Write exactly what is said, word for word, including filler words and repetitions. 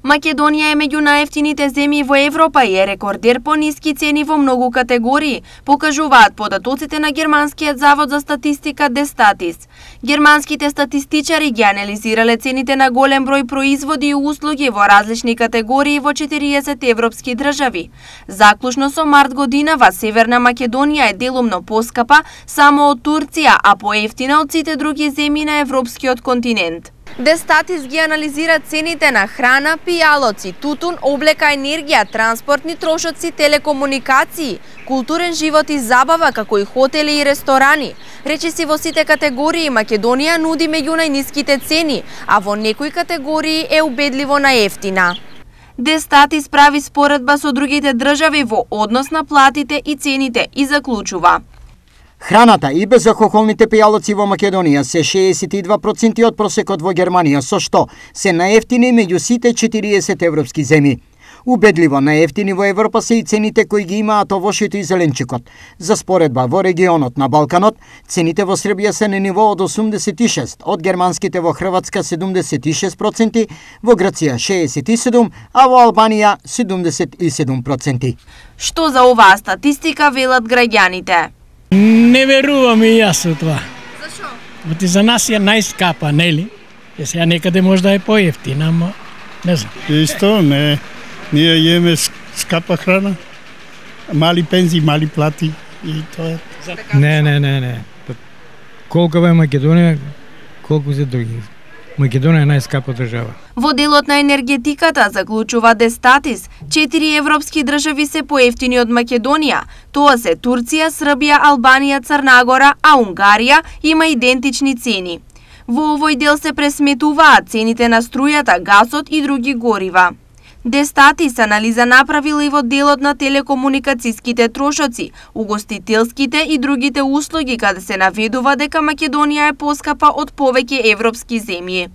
Македонија е меѓу најевтините земји во Европа и е рекордер по ниски цени во многу категории, покажуваат податоците на германскиот завод за статистика Дестатис. Германските статистичари ги анализирале цените на голем број производи и услуги во различни категории во четириесет европски држави. Заклучно со март годинава Северна Македонија е делумно поскапа само од Турција, а поевтина од сите други земји на европскиот континент. Дестатис ги анализира цените на храна, пијалоци, тутун, облека, енергија, транспортни трошоци, телекомуникации, културен живот и забава, како и хотели и ресторани. Речиси во сите категории Македонија нуди меѓу најниските цени, а во некои категории е убедливо наевтина. Дестатис прави споредба со другите држави во однос на платите и цените и заклучува: храната и безалкохолните пијалоци во Македонија се шеесет и два проценти од просекот во Германија, со што се наевтини меѓу сите четириесет европски земји. Убедливо наевтини во Европа се и цените кои ги имаат овошјето и зеленчукот. За споредба, во регионот на Балканот, цените во Србија се на ниво од осумдесет и шест, од германските во Хрватска седумдесет и шест проценти, во Грција шеесет и седум, а во Албанија седумдесет и седум проценти. Што за оваа статистика велат граѓаните? Не верувам и јас со тоа. Зашо? Оти за нас е најскапа, нели? Е сега некаде може да е поевтина, ама не знам. Исто, не. Ние јеме скапа храна, мали пензии, мали плати и тоа. Не, не, не, не. Колку е Македонија, колку се други. Македонија е најскапа држава. Во делот на енергетиката, заклучува Дестатис, четири европски држави се поевтини од Македонија. Тоа се Турција, Србија, Албанија, Црна Гора, а Унгарија има идентични цени. Во овој дел се пресметуваат цените на струјата, гасот и други горива. Дестатис анализа направила и во делот на телекомуникацијските трошоци, угостителските и другите услуги, каде се наведува дека Македонија е поскапа од повеќе европски земји.